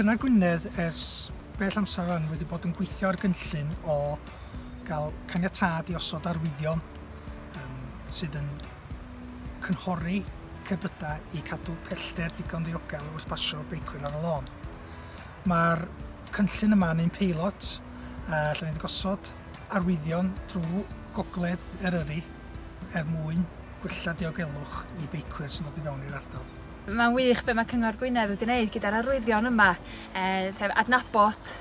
Cyngor Gwynedd ers bell amser rwan wedi bod yn gweithio ar gynllun o gael caniatâd i osod arwyddion sydd yn cynghori cerbydau i cadw pellter digon ddiogel wrth basio beicwyr ar y lôn. Mae'r cynllun yma yn un peilot, lle ni wedi gosod arwyddion drwy gogledd Eryri er mwyn gwella diogelwch i beicwyr sy'n dod i fewn i'r ardal. Mae'n wych be mae Cyngor Gwynedd wedi wneud gyda'r arwyddion yma, sef adnabod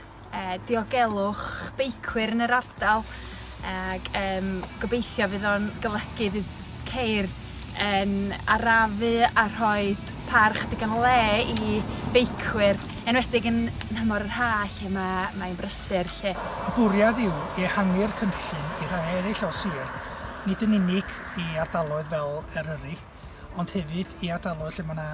diogelwch beicwyr yn yr ardal, ac gobeithio fydd o'n golygu fydd ceir yn arafu a rhoi parch digon o le i feicwyr, enwedig yn nhymor yr ha lle mae'n brysur lle. Y bwriad yw i ehangu'r cynllun i rhannau eraill o'r sir, nid yn unig i ardaloedd fel Eryri, ond hefyd i ardaloedd lle mae yna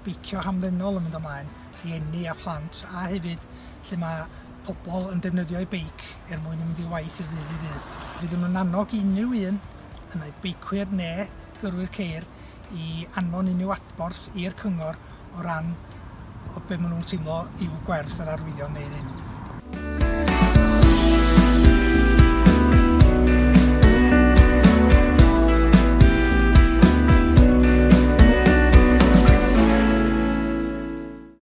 beicio hamddenol yn mynd ymlaen, rhieni a phlant, a hefyd lle mae pobl yn defnyddio eu beic er mwyn mynd i waith o ddydd i ddydd. Fyddwn nhw'n annog unrhyw un, yna beicwyr neu gyrwyr ceir, i anfon unrhyw adborth i'r cyngor o ran o be maen nhw'n teimlo yw gwerth yr arwyddion neu ddim.